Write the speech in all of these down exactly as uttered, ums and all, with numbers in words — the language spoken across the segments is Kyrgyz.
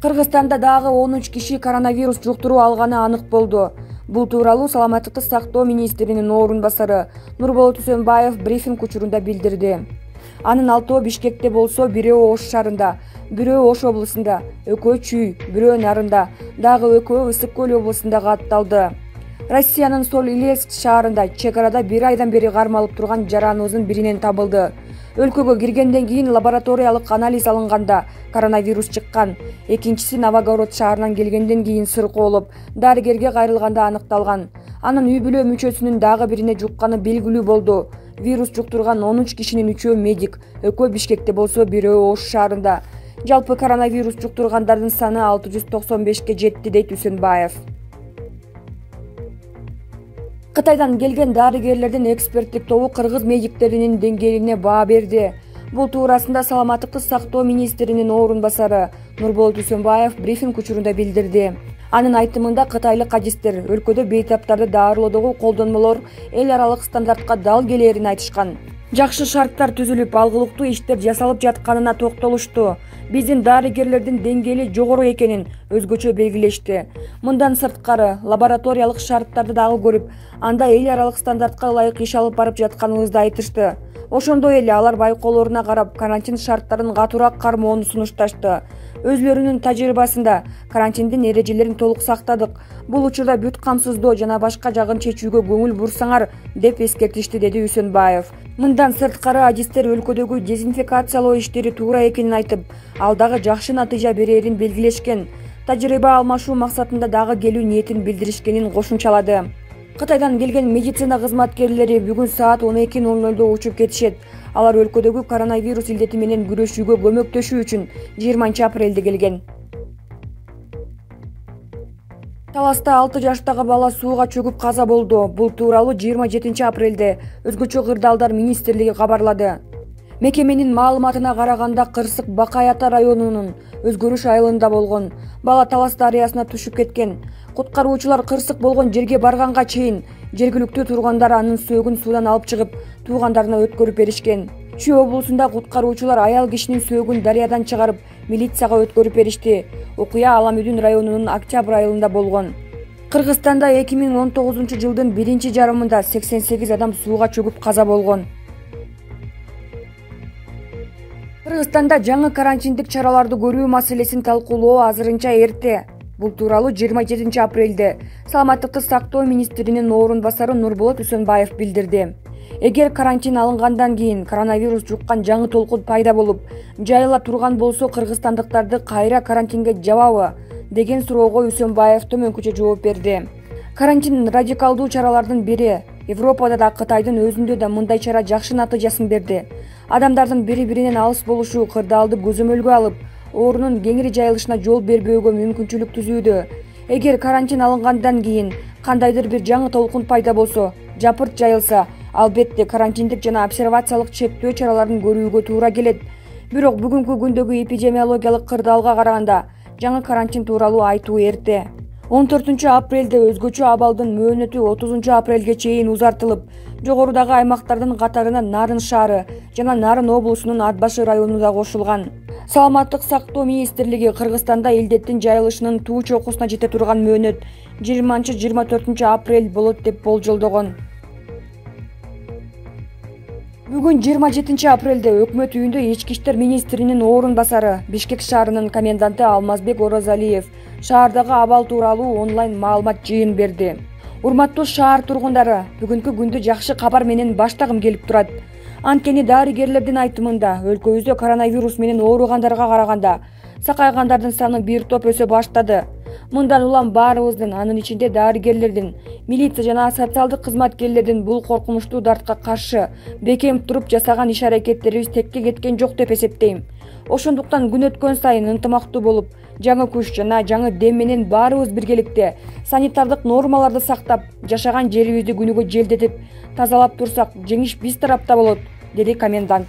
Кыргызстанда дагы он үч киши коронавирус жуктуруу алганы анык болду. Бул тууралуу Саламаттыкты сактоо министринин орун басары Нурболот Үсөнбаев брифинг учурунда билдирди. Анын алтоо Бишкекте болсо, бирөө Ош шаарында, бирөө Ош облусунда, экөө Чүй, бирөө Нарында, дагы экөө Ысык көл облусунда катталды. Россиянын Соль-Илецк шаарында чек арада бир айдан бери кармалып турган жараныбыздын биринен табылды. Өлкөгө киргенден кийин лабораториялык анализ алынганда коронавирус чыккан. Экинчиси Новогород шаарынан келгенден кийин сыркоолоп, дарыгерге кайрылганда аныкталган. Анын үй бүлө мүчөсүнүн дагы бирине жукканы белгилүү болду. Вирус жуктурган он үч кишинин үчөө медик, экөө Бишкекте болсо, бирөө Ош шаарында. Жалпы коронавирус жуктургандардын саны алты жүз токсон бешке жетти, дейт Үсөнбаев. Кытайдан келген дарыгерлердин эксперттик тобу кыргыз медиктеринин деңгээлине баа берди. Бул туурасында Саламаттыкты сактоо министринин орун басары Нурболот Үсөнбаев брифинг учурунда билдирди. Анын айтымында кытайлык адистер өлкөдө бейтаптарды даарылоодогу колдонмолор эл аралык стандартка дал келээрин айтышкан. Жакшы шарттар түзүлүп, алгылыктуу иштер жасалып жатканына токтолушту. Биздин дарыгерлердин деңгээли жогору экенин өзгөчө белгилешти. Мындан сырткары лабораториялык шарттарды дагы көрүп, анда эл аралык стандартка ылайык иш алып барып жатканыбызды айтышты. Ошондой эле алар байкоолоруна карап карантин шарттарын катуураак кармоону сунушташты. Өзлөрүнүн тажрыйбасында карантиндин эрежелерин толук сактадык. Бул учурда бүт камсыздоо жана башка жагын чечүүгө көңүл бурсаңар, деп эскертишти, деди Үсөнбаев. Мындан сырткары адистер өлкөдөгү дезинфекциялоо иштери туура экенин айтып, ал дагы жакшы натыйжа берерин белгилешкен. Тажрыйба алмашуу максатында дагы келүү ниетин билдиришкенин кошумчалады. Кытайдан келген медицина кызматкерлери бүгүн саат он эки ноль нолдо учуп кетишет. Алар өлкөдөгү коронавирус илдети менен күрөшүүгө көмөктөшүү үчүн жыйырманчы апрелде келген. Таласта алты жаштагы бала сууга чөгүп каза болду. Бул тууралуу жыйырма жетинчи апрелде Өзгөчө кырдаалдар министрлиги кабарлады. Мекеменин маалыматына караганда, Кырсык Бакай Ата районунун Өзгөрүш айылында болгон. Бала Талас дарыясына түшүп кеткен. Куткаруучулар кырсык болгон жерге барганга чейин жергиликтүү тургандар анын сөөгүн суудан алып чыгып, туугандарына өткөрүп беришкен. Чүй облусунда куткаруучулар аял кишинин сөөгүн дарыядан чыгарып, милицияга өткөрүп беришти. Окуя Аламүдүн районунун Октябрь айылында болгон. Кыргызстанда эки миң он тогузунчу жылдын биринчи жарымында сексен сегиз адам сууга чөгүп каза болгон. Кыргызстанда жаңы карантиндик чараларды көрүү маселесин талкуулоо азырынча эрте. Бул тууралуу жыйырма жетинчи апрелде Саламаттыкты сактоо министринин орун басары Нурболот Үсөнбаев билдирди. Эгер карантин алынгандан кийин коронавирус жуккан жаңы толкун пайда болуп, жайыла турган болсо, кыргызстандыктарды кайра карантинге жабабы деген суроого Үсөнбаев төмөнкүчө жооп берди. Карантин радикалдуу чаралардын бири. Европада да, Кытайдын өзүндө да мындай чара жакшы натыйжасын берди. Адамдардын бири-биринен алыс болушу кырдаалды көзөмөлгө алып, оорунун кеңири жайылышына жол бербөөгө мүмкүнчүлүк түзүүдө. Эгер карантин алынгандан кийин кандайдыр бир жаңы толкун пайда болсо, жапырт жайылса, албетте карантиндик жана обсервациялык чектөө чараларын көрүүгө туура келет. Бирок бүгүнкү күндөгү эпидемиологиялык кырдаалга караганда жаңы карантин тууралуу айтуу эрте. он төртүнчү апрелде өзгөчө абалдын мөөнөтү отузунчу апрелге чейин узартылып, жогорудагы аймактардын катарына Нарын шаары жана Нарын облусунун Ат башы району да кошулган. Саламаттык сактоо министрлиги Кыргызстанда илдеттин жайылышынын туу чокусуна жете турган мөөнөт жыйырманчы жыйырма төртүнчү апрель болот деп болжолдогон. Бүгүн жыйырма жетинчи апрелде өкмөт үйүндө ички иштер министринин орун басары, Бишкек шаарынын коменданты Алмазбек Оразалиев шаардагы абал тууралуу онлайн маалымат жыйын берди. Урматтуу шаар тургундары, бүгүнкү күндү жакшы кабар менен баштагым келип турат. Анткени дарыгерлердин айтымында өлкөбүздө коронавирус менен ооругандарга караганда сакайгандардын саны бир топ өсө баштады. Мындан улам баарыбыздын, анын ичинде дарыгерлердин, милиция жана социалдык кызматкерлердин бул коркунучтуу дартка каршы бекем туруп жасаган иш-аракеттерибиз текке кеткен жок деп эсептейм. Ошондуктан күн өткөн сайын ынтымактуу болуп, жаңы күч жана жаңы дем менен баарыбыз биргеликте санитардык нормаларды сактап, жашаган жерибизди күнүгө желдетип, тазалап турсак, жеңиш биз тарапта болот, деди комендант.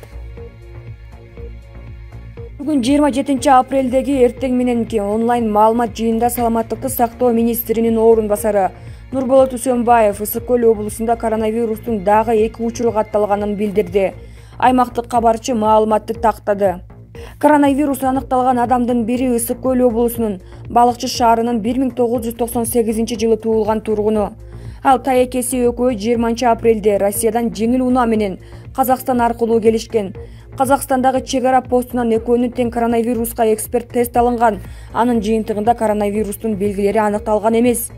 Бүгүн жыйырма жетинчи апрелдеги эртең мененки онлайн маалымат жыйында Саламаттыкты сактоо министринин орун басары Нурболот Үсөнбаев Ысык көл облусунда коронавирустун дагы эки учуру катталганын билдирди. Аймактык кабарчы маалыматты тактады. Коронавирус аныкталган адамдын бири Ысык Көл облусунун Балыкчы шаарынын бир миң тогуз жүз токсон сегизинчи жылы туулган тургуну. Ал тайекеси экөө жыйырманчы апрелде Россиядан жеңил унаа менен Казакстан аркылуу келишкен. Казакстандагы чек ара постунан экөөнүн тең коронавируска эксперт тест алынган. Анын жыйынтыгында коронавирустун белгилери аныкталган эмес.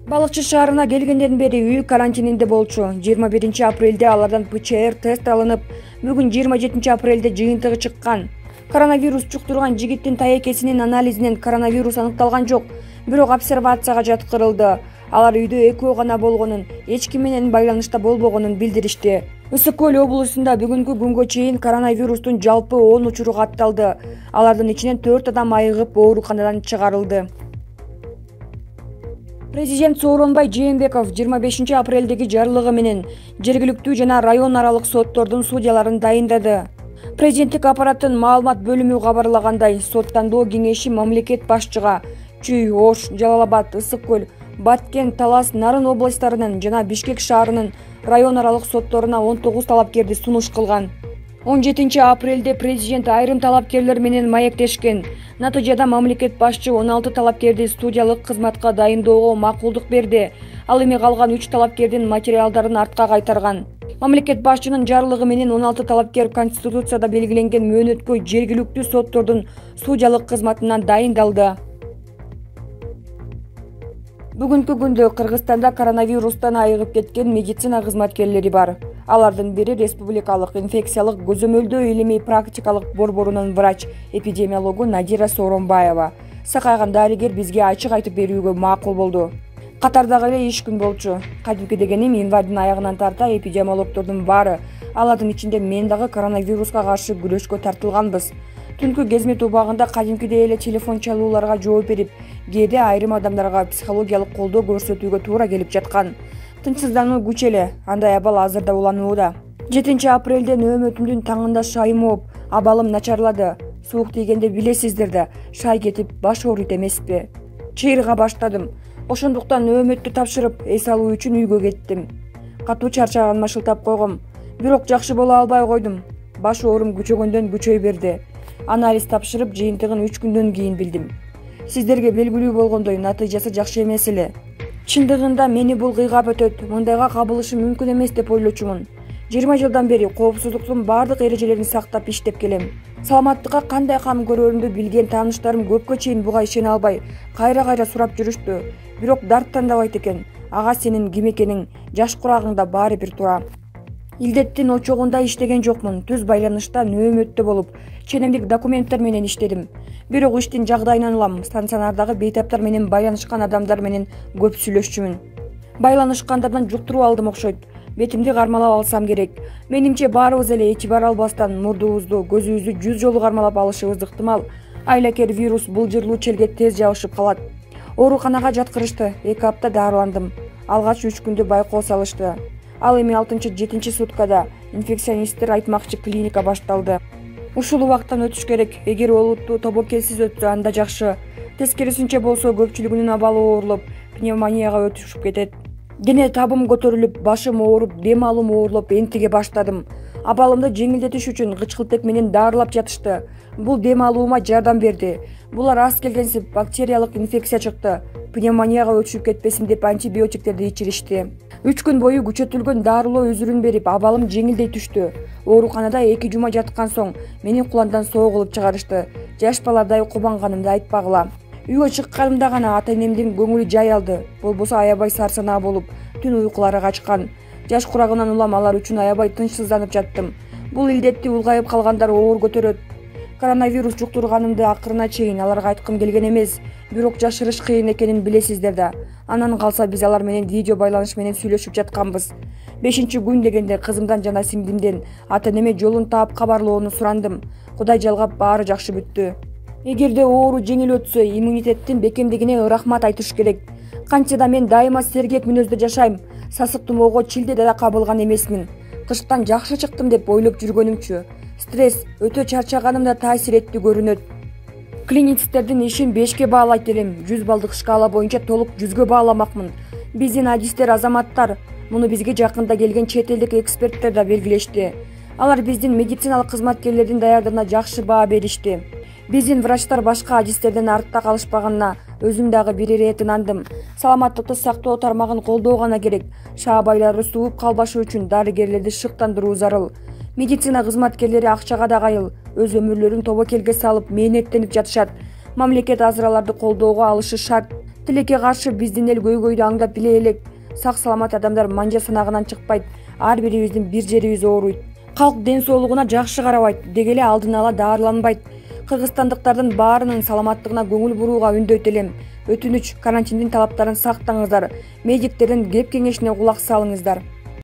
Балыкчы шаарына келгенден бери үй карантининде болчу. жыйырма биринчи апрелде алардан пэ че эр тест алынып, бүгүн жыйырма жетинчи апрелде жыйынтыгы чыккан. Коронавирус жуктурган жигиттин тайекесинин анализинен коронавирус аныкталган жок, бирок обсервацияга жаткырылды. Алар үйдө экөө гана болгонун, эч ким менен байланышта болбогонун билдиришти. Ысык Көл облусунда бүгүнкү күнгө чейин коронавирустун жалпы он учуру катталды. Алардын ичинен төрт адам айыгып ооруканадан чыгарылды. Президент Сооронбай Жээнбеков жыйырма бешинчи апрелдеги жарлыгы менен жергиликтүү жана район аралык соттордун судьяларын дайындады. Президенттик аппараттын маалымат бөлүмү кабарлагандай, соттандоо кеңеши мамлекет башчыга Чүй, Ош, Жалал Абад, Ысык Көл, Баткен, Талас, Нарын областарынын жана Бишкек шаарынын район аралык сотторуна он тогуз талапкерди сунуш кылган. он жетинчи апрелде президент айрым талапкерлер менен маектешкен. Натыйжада мамлекет башчы он алты талапкерди студиялык кызматка дайындоого макулдук берди. Ал эми калган үч талапкердин материалдарын артка кайтарган. Мамлекет башчынын жарлыгы менен он алты талапкер Конституцияда белгиленген мөөнөткө жергиликтүү соттордун судьялык кызматынан дайындалды. Бүгүнкү күндө Кыргызстанда коронавирустан айыгып кеткен медицина кызматкерлери бар. Алардын бири Республикалык инфекциялык көзөмөлдөө илимий практикалык борборунун врач-эпидемиологу Надира Сооронбаева. Сакайган дарыгер бизге ачык айтып берүүгө макул болду. Катардагы эле иш күн болчу. Кадимки дегеним январдын аягынан тарта эпидемиологдордун баары, алардын ичинде мен дагы коронавируска каршы күрөшкө тартылганбыз. Түнкү кезмет убагында кадимкидей эле телефон чалууларга жооп берип, кээде айрым адамдарга психологиялык колдоо көрсөтүүгө туура келип жаткан. Тынчсыздануу күчеле, андай абал азырда уланууда. жетинчи апрелде нөөмөтүмдүн таңында шайым ооп, абалым начарлады. Суук тийгенде билесиздер да, шай кетип баш ооруйт эмеспи. Чыйырга баштадым. Ошондуктан нөөмөттү тапшырып, эс алуу үчүн үйгө кеттим. Катуу чарчаганыма шылтап койгом, бирок жакшы боло албай койдум. Баш оорум күчөгөндөн күчөй берди. Анализ тапшырып, жыйынтыгын үч күндөн кийин билдим. Сиздерге белгилүү болгондой, натыйжасы жакшы эмес эле. Чындыгында мени бул кыйгап өтөт, мындайга кабылышы мүмкүн эмес деп ойлочумун. жыйырма жылдан бери коопсуздуктун баардык эрежелерин сактап иштеп келем. Саламаттыкка кандай кам көрөрүмдү билген тааныштарым көпкө чейин буга ишене албай, кайра-кайра сурап жүрүштү. Бирок дарттандабайт экен. Ага сенин ким экениң, жаш курагыңда баары бир тура. Илдеттин очогунда иштеген жокмун, түз байланышта нөөмөттө болуп, ченемдик документтер менен иштедим. Бирок иштин жагдайынан улам, стационардагы бейтаптар менен байланышкан адамдар менен көп сүйлөшчүмүн. Байланышкандардан жуктуруп алдым окшойт. Бетимди кармалап алсам керек. Менимче баарыбыз эле этибар албастан мурдубузду, көзүбүздү жүз жолу кармалап алышыбыз ыктымал. Айлакер вирус булжырлуу челге тез жабышып калат. Ооруканага жаткырышты, эки апта дарыландым. Алгач үч күндө байкоо салышты. Ал эми алтынчы жетинчи суткада инфекционисттер айтмакчы клиника башталды. Ушул убактан өтүш керек. Эгер олуттуу тобокелсиз өтсө анда жакшы. Тескерисинче болсо көпчүлүгүнүн абалы оорлоп, пневмонияга өтүшүп кетет. Дене табым көтөрүлүп, башым ооруп, дем алуум оорлоп энтиге баштадым. Абалымды жеңилдетиш үчүн кычкылтек менен дарылап жатышты. Бул дем алуума жардам берди. Булар аз келгенсип бактериялык инфекция чыкты. Пневмонияга өтүшүп кетпесин деп антибиотиктерди ичиришти. үч күн бою күчөтүлгөн дарылоо үзүрүн берип, абалым жеңилдей түштү. Ооруканада эки жума жаткан соң мени куландан соо кылып чыгарышты. Жаш баладай кубанганымды айтпагыла. Үйгө чыкканымда гана ата-энемдин көңүлү жай алды. Болбосо аябай сарсанаа болуп, түн уйкулары качкан. Жаш курагынан улам алар үчүн аябай тынчсызданып жаттым. Бул илдетти улгайып калгандар оор көтөрөт. Коронавирус жуктурганымды акырына чейин аларга айткым келген эмес, бирок жашырыш кыйын экенин билесиздер да. Анан калса биз алар менен видео байланыш менен сүйлөшүп жатканбыз. бешинчи күн дегенде кызымдан жана сиңдимден ата-энеме жолун таап кабарлоону сурандым. Кудай жалгап баары жакшы бүттү. Эгерде оору жеңил өтсө, иммунитеттин бекемдигине рахмат айтыш керек. Канча да мен дайыма сергек мүнөздө жашайм. Сасык тумоого чилде да кабылган эмесмин. Кыштан жакшы чыктым деп ойлоп жүргөнүмчү. Стресс өтө чарчаганым да таасир этти көрүнөт. Клиницистердин ишин бешке баалайт элем. жүз балдык шкала боюнча толук жүзгө бааламакмын. Биздин адистер, азаматтар, муну бизге жакында келген чет элдик эксперттер да белгилешти. Алар биздин медициналык кызматкерлердин даярдыгына жакшы баа беришти. Биздин врачтар башка адистерден артта калышпаганына өзүм дагы бир ирет ынандым. Саламаттыкты сактоо тармагын колдоо гана керек. Шаабайлары сууп калбашы үчүн дарыгерлерди шыктандыруу зарыл. Медицина кызматкерлери акчага да кайыл, өз өмүрлөрүн тобокелге салып мээнеттенип жатышат. Мамлекет азыр аларды колдоого алышы шарт. Тилекке каршы биздин эл көйгөйдү аңдап биле элек. Сак саламат адамдар манжа санагынан чыкпайт. Ар бирибиздин бир жерибиз ооруйт. Калк ден соолугуна жакшы карабайт, деги эле алдын ала даарыланбайт. Кыргызстандыктардын баарынын саламаттыгына көңүл бурууга үндөйт элем. Өтүнүч, карантиндин талаптарын сактаңыздар. Медиктердин кеп кеңешине кулак салыңыздар.